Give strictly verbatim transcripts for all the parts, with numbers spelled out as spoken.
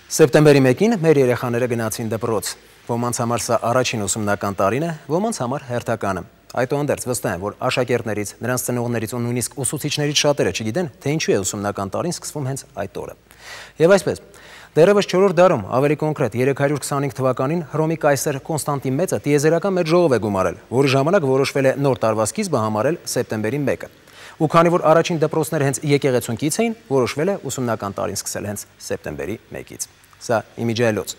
Սեպտեմբերի մեկին մեր երեխաները գնացին դպրոց։ Ոմանց համար սա առաջին ուսումնական տարին է, ոմանց համար հերթականը։ Այդուհանդերձ վստահ եմ, որ աշակերտներից, նրանց ծնողներից ու նույնիսկ ուսուցիչներից շատերը չգիտեն, թե ինչու է ուսումնական տարին սկսվում հենց այդ օրը։ Եվ այսպես, դեռևս չորրորդ դարում, ավելի կոնկրետ երեք հարյուր քսանհինգ թվականին Հռոմի կայսր Կոնստանտին Մեծը տիեզերական մեծ ժողով է գումարել, որի ժամանակ որոշվել է նոր տարվա սկիզբը համարել սեպտեմբերի մեկը։ Ու քանի որ առաջին դպրոցները հենց եկեղեցունքից էին, որոշվել է ուսումնական տարին սկսել հենց սեպտեմբերի մեկից։ Սա իմիջիայլոց։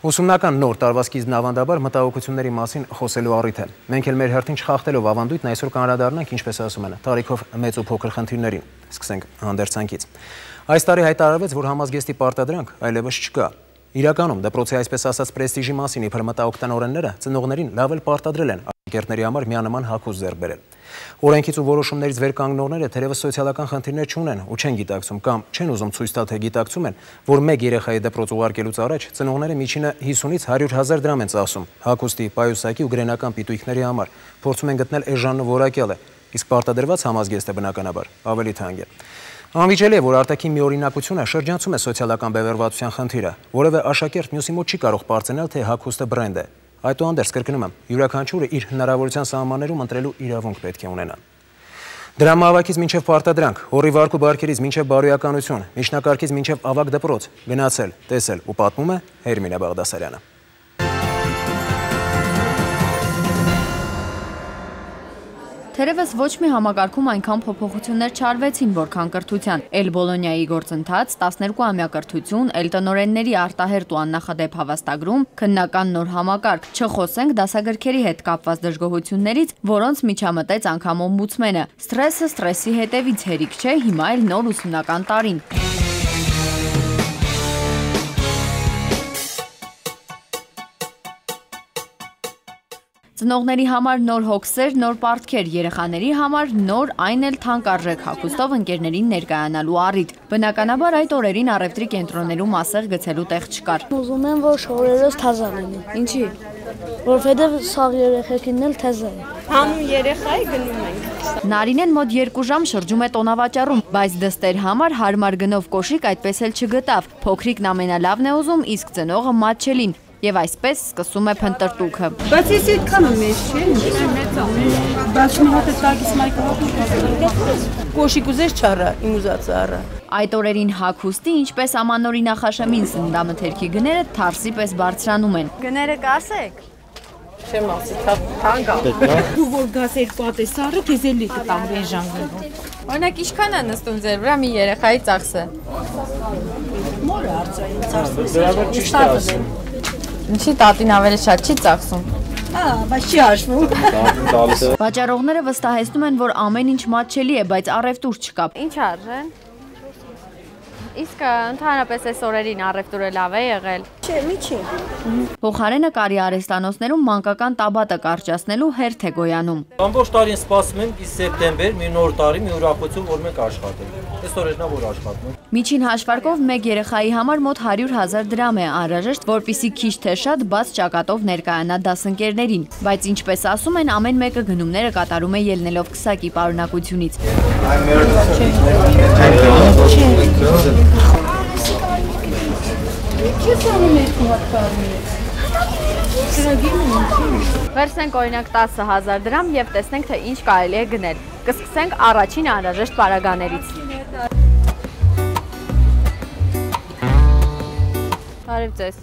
Ուսումնական նոր տարվա սկիզբն ավանդաբար մտահոգությունների մասին խոսելու առիթ է։ Մենք էլ մեր հերթին չխախտելով ավանդույթն այսօր կանդրադառնանք, ինչպես ասում են, տարիքով մեծ ու փոքր խնդիրներին։ Սկսենք հանդերձանքից։ Այս տարի հայտարարվեց, որ համազգեստի պարտադրանք այլևս չկա։ Իրականում դպրոցի այսպես ասած պրեստիժի մասին իբր մտահոգ տնօրենները ծնողներին լավ էլ պարտադրել են աշակերտների համար միանման հագուստ ձեռք բերել։ Օրենքից ու որոշումներից վեր կանգնողները թերևս սոցիալական խնդիրներ չունեն ու չեն գիտակցում կամ չեն ուզում ցույց տալ, թե գիտակցում են, որ մեկ երեխայի դպրոց ուղարկելուց առաջ ծնողները միջինը հիսունից հարյուր հազար դրամ են ծախսում հագուստի, պայուսակի ու գրենական պիտույքների համար, փորձում են գտնել էժանն ու որակյալը, իսկ պարտադրված համազգեստը բնականաբար ավելի թանկ է։ Անվիճելի է, որ արտաքին մի օրինակությունը շրջանցում է սոցիալական բևեռվածության խնդիրը, որևէ աշակերտ մյուսի մոտ չի կարող պարծենալ, թե հագուստը բրենդ է։ Այդուհանդերձ կրկնում եմ, յուրաքանչյուրը իր հնարավորության սահմաններում ընտրելու իրավունք պետք է ունենա։ Դրամահավաքից մինչև պարտադրանք, հորի վարք ու բարքերից մինչև բարոյականություն, միջնակարգից մինչև ավագ դպրոց, գնացել, տեսել ու պատմում է Հերմինե Բաղդասարյանը։ Թերևս ոչ մի համակարգում այնքան փոփոխություններ չարվեցին, որքան կրթության։ Էլ Բոլոնիայի գործընթաց, տասներկու ամյա կրթություն, էլ տնօրենների արտահերտ ու աննախադեպ հավաստագրում, քննական նոր համակարգ, չխոսենք դասագրքերի հետ կապված դժգոհություններից, որոնց միջամտեց անգամ օմբուդսմենը։ Սթրեսը սթրեսի հետևից հերիք չէ, հիմա էլ նոր ուսումնական տարին։ Ծնողների համար նոր հոգսեր, նոր պարտքեր, երեխաների համար նոր այն էլ թանկարժեք հագուստով ընկերներին ներկայանալու առիթ։ Բնականաբար այդ օրերին առևտրի կենտրոններում ասեղ գցելու տեղ չկար։ Ուզում եմ, որ շորերս թազա լինի։ Ինչի՞։ Որովհետև սաղ երեխեքին էլ թազա է։ Հանուն երեխայի գնում ենք։ Նարինեն մոտ երկու ժամ շրջում է տոնավաճառում, բայց դստեր համար հարմար գնով կոշիկ այդպես էլ չգտավ։ Փոքրիկն ամենալավն է ուզում, իսկ ծնողը մատչելին։ Եվ այսպես սկսում է փնտրտուքը։ Բայց ես այդքանը մեծ չէ, մեծ է։ Բայց մի հատ է տակից մայքրոֆոն կոշիկ ուզես չառա, իմ ուզածը առա։ Այդ օրերին հագուստի, ինչպես ամանորի նախաշեմին սննդամթերքի գները թարսի պես բարձրանում են։ Գները կասեք։ Չեմ ասի, թանկ է։ Դու որ գաս երկու հատ ես առը, քեզ էլի կտամ էժան գնով։ Օրինակ ինչքան է նստում ձեր վրա մի երեխայի ծախսը։ Մորը արծային ծախսը։ Ինչի տատին ավելի շատ չի ծախսում։ Հա, բայց չի հաշվում։ Վաճառողները վստահեցնում են, որ ամեն ինչ մատչելի է, բայց առևտուր չկա։ Ինչ արժեն։ Իսկ ընդհանրապես այս օրերին առևտուրը լավ է եղել։ Չէ, մի չի։ Փոխարենը կարի արհեստանոցներում մանկական տաբատը կարճացնելու հերթ է գոյանում։ Ամբողջ տարին սպասում ենք իսկ սեպտեմբեր, մի նոր տարի, մի ուրախություն, որ մենք աշխատենք։ Այս օրերն է որ աշխատում ենք։ Միջին հաշվարկով մեկ երեխայի համար մոտ հարյուր հազար դրամ է անհրաժեշտ, որպեսզի քիչ թե շատ բաց ճակատով ներկայանա դասընկերներին։ Բայց ինչպես ասում են, ամեն մեկը գնումները կատարում է ելնելով քսակի պարունակությունից։ Վերցնենք օրինակ տասը հազար դրամ և տեսնենք, թե ինչ կարելի է գնել։ Կսկսենք առաջին անհրաժեշտ պարագաներից։ Բարև ձեզ։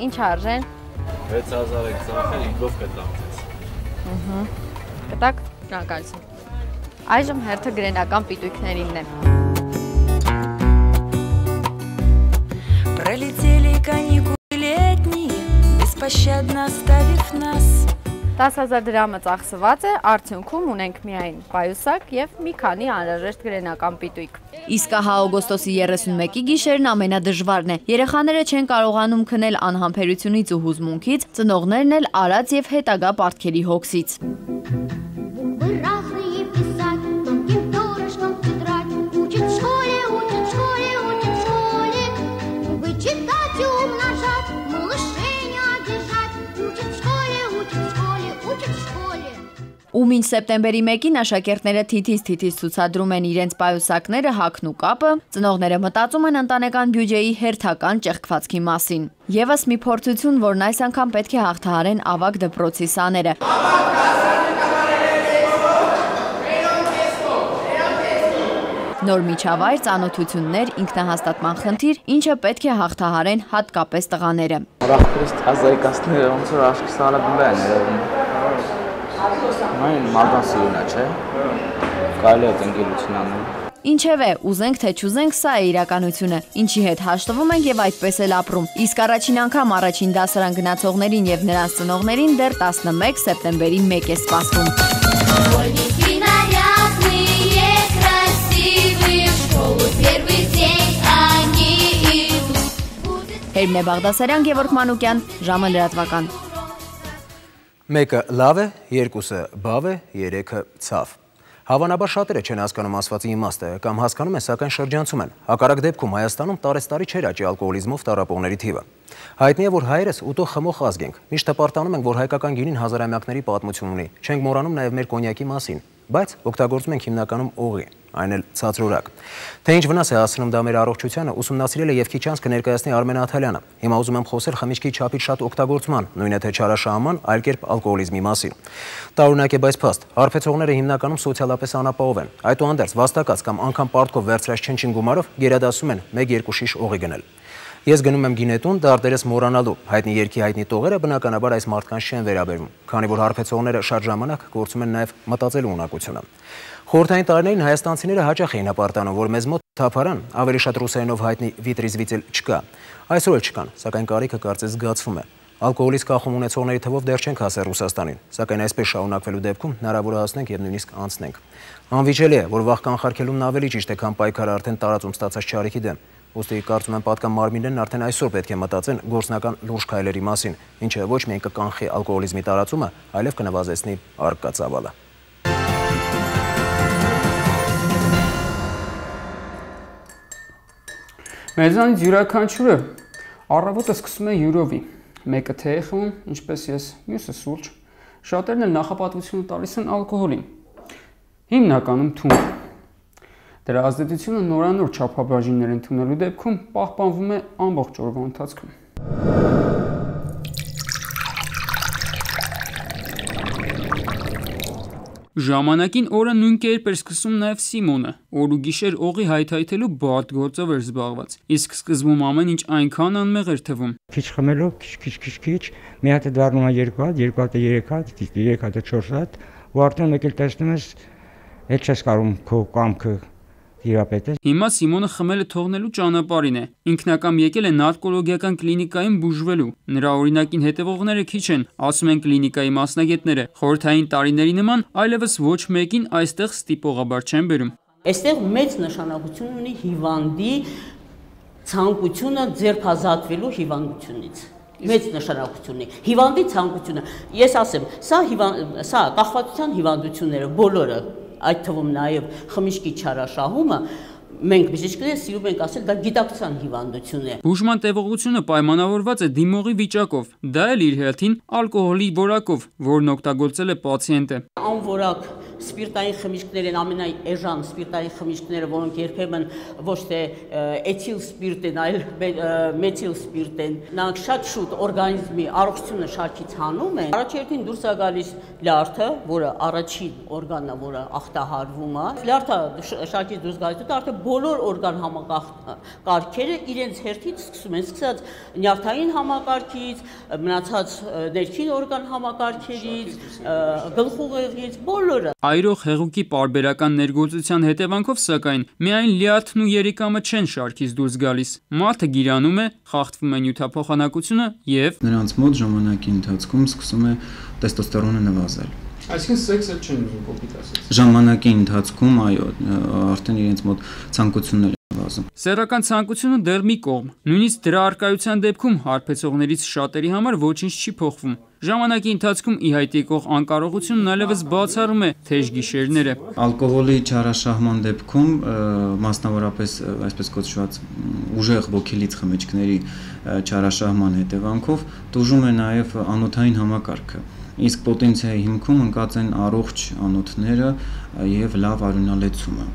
Ինչ արժեն։ վեց հազար եք ծախել, ինքով կտամ ձեզ։ Կտակ, շնորհակալություն։ Այժմ հերթը գրենական պիտույքներինն է։ Пролетели каникулы летние, беспощадно оставив нас. տասը հազար դրամը ծախսված է, արդյունքում ունենք միայն պայուսակ և մի քանի անհրաժեշտ գրենական պիտույք։ Իսկ ահա օգոստոսի երեսունմեկի գիշերն ամենադժվարն է։ Երեխաները չեն կարողանում քնել անհամբերությունից ու հուզմունքից, ծնողներն էլ արած և հետագա պարտքերի հոգսից։ Ու մինչ սեպտեմբերի մեկին աշակերտները թիթիզ-թիթիզ ցուցադրում են իրենց պայուսակները, հագն ու կապը, ծնողները մտածում են ընտանեկան բյուջեի հերթական ճեղքվածքի մասին։ Եվս մի փորձություն, որն այս անգամ պետք է հաղթահարեն ավագ դպրոցի սաները։ Նոր միջավայր, ծանոթություններ, ինքնահաստատման խնդիր, ինչը պետք է հաղթահարեն հատկապես տղաները։ Ուրախ ազայկասները ոնց որ աշկի սարաբնբա են երևում։ Մայն մագասիոնա չէ։ Կարելի է տնկելություն անել։ Ինչևէ, ուզենք թե չուզենք, սա է իրականությունը, ինչի հետ հաշտվում ենք եւ այդպես էլ ապրում։ Իսկ առաջին անգամ առաջին դասարան գնացողներին եւ նրանց ծնողներին դեռ տասնմեկ սեպտեմբերի մեկ է սպասվում։ Հերմնե Բաղդասարյան, Գևորգ Մանուկյան, ժամը լրատվական։ Մեկը լավ է, երկուսը բավ է, երեքը ցավ։ Հավանաբար շատերը չեն հասկանում ասվածի իմաստը կամ հասկանում են, սակայն շրջանցում են։ Հակառակ դեպքում Հայաստանում տարեցտարի չէր աճի ալկոհոլիզմով տառապողների թիվը։ Հայտնի է, որ հայերս ուտող խմող ազգ ենք։ Միշտ հպարտանում ենք, որ հայկական գինին հազարամյակների պատմություն ունի։ Չենք մոռանում նաև մեր կոնյակի մասին, բայց օգտագործում ենք հիմնականում օղի, այն էլ ցածրորակ։ Թե ինչ վնաս է հասցնում դա մեր առողջությանը, ուսումնասիրել է եւ քիչ անց կներկայացնի Արմեն Աթալյանը։ Հիմա ուզում եմ խոսել խմիչքի չափից շատ օգտագործման, նույնը թե չարաշահման, այլ կերպ ալկոհոլիզմի մասին։ Տարօրինակ է, բայց փաստ, հարբեցողները հիմնականում սոցիալապես անապահով են։ Այդուհանդերձ վաստակած կամ անգամ պարտքով վերցրած չնչին գումարով գերադասում են մեկ-երկու շիշ օղի գնել։ Ես գնում եմ գինետուն դարտերս մոռանալու, հայտնի երգի հայտնի տողերը բնականաբար այս մարդկանց չեն վերաբերվում, քանի որ հարբեցողները շատ ժամանակ կորցում են նաև մտածելու ունակությունը։ Խորհրդային տարիներին հայաստանցիները հաճախ էին հպարտանում, որ մեզ մոտ թափարան, ավելի շատ ռուսերենով հայտնի վիտրիզվիցել չկա։ Այսօր էլ չկան, սակայն կարիքը կարծես զգացվում է։ Ալկոհոլից կախում ունեցողների թվով դեռ չենք հասել Ռուսաստանին, սակայն այսպես շարունակվելու դեպքում հնարավոր է հասնենք եւ նույնիսկ անցնենք։ Անվիճելի է, որ վաղ կանխարգելումն ավելի ճիշտ է, քան պայքարը արդեն տարածում ստացած չարիքի դեմ։ Ուստի կարծում եմ պատկան մարմիններն արդեն այսօր պետք է մտածեն գործնական լուրջ քայլերի մասին, ինչը ոչ միայն կկանխի ալկոհոլիզմի տարածումը, այլև կնվազեցնի առկա ծավալը։ Մեզանից յուրաքանչյուրը առավոտը սկսում է յուրովի, մեկը թե է խմում, ինչպես ես, մյուսը սուրճ, շատերն էլ նախապատվությունը տալիս են ալկոհոլին, հիմնականում թունդ։ Դրա ազդեցությունը նորանոր չափաբաժիններ ընդունելու դեպքում պահպանվում է ամբողջ օրվա ընթացքում։ Ժամանակին օրը նույն կերպ էր սկսում նաև Սիմոնը, օր ու գիշեր օղի հայթայթելու բարդ գործով էր զբաղված, իսկ սկզբում ամեն ինչ այնքան անմեղ էր թվում։ Քիչ խմելով, քիչ-քիչ-քիչ, մի հատ է դառնում է երկու հատ, երկու հատ է երեք հատ, երեք հատ է չորս հատ, ու արդեն մեկ էլ տեսնում ես, հետ չես կարում քո կամքը դիապետես։ Հիմա Սիմոնը խմելը թողնելու ճանապարհին է։ Ինքնակամ եկել է նարկոլոգիական կլինիկայում բուժվելու։ Նրա օրինակին հետևողները քիչ են, ասում են կլինիկայի մասնագետները։ Խորհրդային տարիների նման այլևս ոչ մեկին այստեղ ստիպողաբար չեն բերում։ Այստեղ մեծ նշանակություն ունի հիվանդի ցանկությունը ձերբազատվելու հիվանդությունից։ Մեծ նշանակություն ունի հիվանդի ցանկությունը։ Ես ասեմ, սա սա կախվածության հիվանդությունները բոլորը, այդ թվում նաև խմիչքի չարաշահումը, մենք բժիշկները սիրում ենք ասել, դա գիտակցության հիվանդություն է։ Բուժման տևողությունը պայմանավորված է դիմողի վիճակով, դա էլ իր հերթին ալկոհոլի որակով, որն օգտագործել է պացիենտը։ Անորակ սպիրտային խմիչքներ են, ամենաէժան սպիրտային խմիչքները, որոնք երբեմն ոչ թե էթիլ սպիրտ են, այլ մեթիլ սպիրտ են, նրանք շատ շուտ օրգանիզմի առողջությունը շարքից հանում են։ Առաջերտին դուրս է գալիս լյարդը, որը առաջին օրգանն է, որը ախտահարվում է։ Լյարդը շարքից դուրս գալիս, դա արդեն բոլոր օրգան համակարգերը իրենց հերթից սկսում են, սկսած նյարդային համակարգից, մնացած ներքին օրգան համակարգերից, գլխուղեղից, բոլորը։ Այրող հեղուկի պարբերական ներգործության հետևանքով, սակայն, միայն լյարդն ու երիկամը չեն շարքից դուրս գալիս։ Մարդը գիրանում է, խախտվում է նյութափոխանակությունը եւ նրանց մոտ ժամանակի ընթացքում սկսում է տեստոստերոնը նվազել։ Այսինքն սեքսը չեն ուզում կոպիտ ասած։ Ժամանակի ընթացքում, այո, արդեն իրենց մոտ ցանկությունն է նվազում։ Սեռական ցանկությունը դեռ մի կողմ։ Նույնիսկ դրա առկայության դեպքում հարբեցողներից շատերի համար ոչինչ չի փոխվում։ Ժամանակի ընթացքում ի հայտ եկող անկարողությունն այլևս բացառում է թեժ գիշերները։ Ալկոհոլի չարաշահման դեպքում, մասնավորապես այսպես կոչված ուժեղ ոգելից խմիչքների չարաշահման հետևանքով տուժում է նաև անոթային համակարգը, Իսկ պոտենցիայի հիմքում ընկած են առողջ անոթները եւ լավ արյունալեցումը։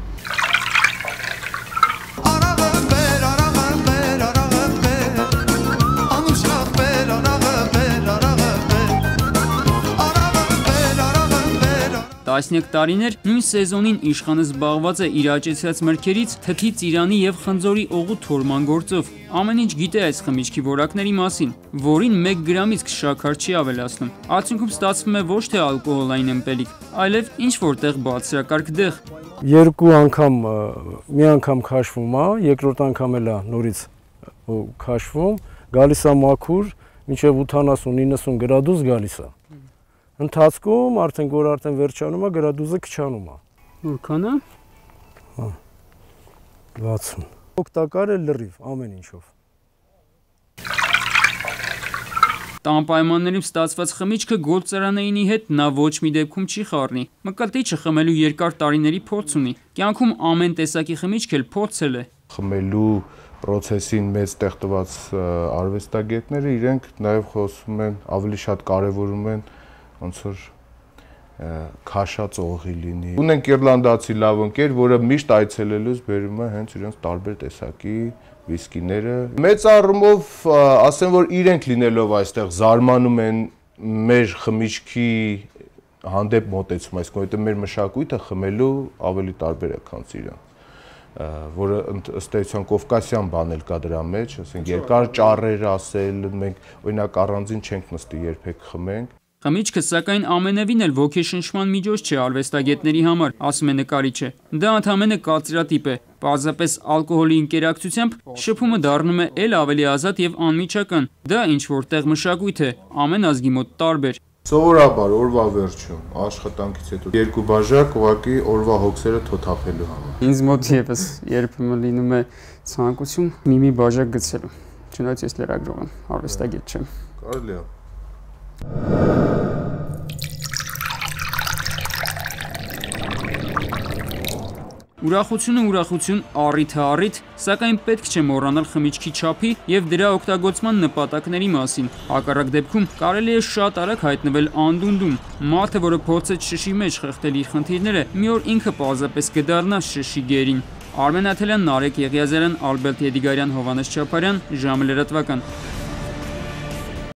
Տասնյակ տարիներ նույն սեզոնին իշխանը զբաղված է իր աճեցրած մրգերից թթի, ծիրանի եւ խնձորի օղու թորման գործով։ Ամեն ինչ գիտե այս խմիչքի որակների մասին, որին մեկ գրամից քշաքար չի ավելացնում։ Արդյունքում ստացվում է ոչ թե ալկոհոլային ըմպելիք, այլև ինչ որտեղ բարձրակարգ դեղ։ Երկու անգամ մի անգամ քաշվում է, երկրորդ անգամ էլ է նորից քաշվում, գալիս է մաքուր, մինչև ութանասուն նինասուն գրադուս գալիս է։ Ընթացքում արդեն որ արդեն վերջանում է գրադուզը քչանում է։ Որքան է? Հա։ վաթսուն։ Օգտակար է լրիվ ամեն ինչով։ Տան պայմաններում ստացված խմիչքը գործարանայինի հետ նա ոչ մի դեպքում չի խառնի։ Մկրտիչը խմելու երկար տարիների փորձ ունի։ Կյանքում ամեն տեսակի խմիչք էլ փորձել է։ Խմելու պրոցեսին մեծ տեղտված արվեստագետները իրենք նաև խոսում են, ավելի շատ կարևորում են ոնց որ քաշած օղի լինի։ Ունենք իռլանդացի լավ ընկեր, որը միշտ այցելելուց բերում է հենց իրենց տարբեր տեսակի վիսկիները։ Մեծ առումով ասեմ, որ իրենք լինելով այստեղ զարմանում են մեր խմիչքի հանդեպ մոտեցում, այսինքն որովհետև մեր մշակույթը խմելու ավելի տարբեր է, քան իրենք, որը ըստ էության կովկասյան բան էլ կա դրա մեջ, ասենք երկար ճառեր ասել, մենք օրինակ առանձին չենք նստի երբեք խմենք։ Խմիչքը սակայն ամենևին էլ ոգեշնչման միջոց չէ արվեստագետների համար, ասում է նկարիչը։ Դա ընդհանրապես կարծրատիպ է։ Պարզապես ալկոհոլի ինտերակցիությամբ շփումը դառնում է ել ավելի ազատ եւ անմիջական։ Դա ինչ որտեղ մշակույթ է, ամեն ազգի մոտ տարբեր։ Սովորաբար օրվա վերջում աշխատանքից հետո երկու բաժակ ուղղակի օրվա հոգսերը թոթափելու համար։ Ինձ մոտ եւս երբեմն լինում է ցանկություն մի-մի բաժակ գցելու։ Չնայած ես լրագրող եմ, արվեստագետ չեմ։ Կարելի է։ Ուրախությունը ուրախություն, առիթը առիթ, սակայն պետք չէ մոռանալ խմիչքի չափի եւ դրա օգտագործման նպատակների մասին։ Հակառակ դեպքում կարելի է շատ արագ հայտնվել անդունդում։ Մարդը, որը փորձեց շշի մեջ խեղդել իր խնդիրները, մի օր ինքը պարզապես կդառնա շշի գերին։ Արմեն Աթելյան, Նարեկ Եղիազարյան, Ալբերտ Եդիգարյան, Հովհաննես Չապարյան, ժամը լրատվական։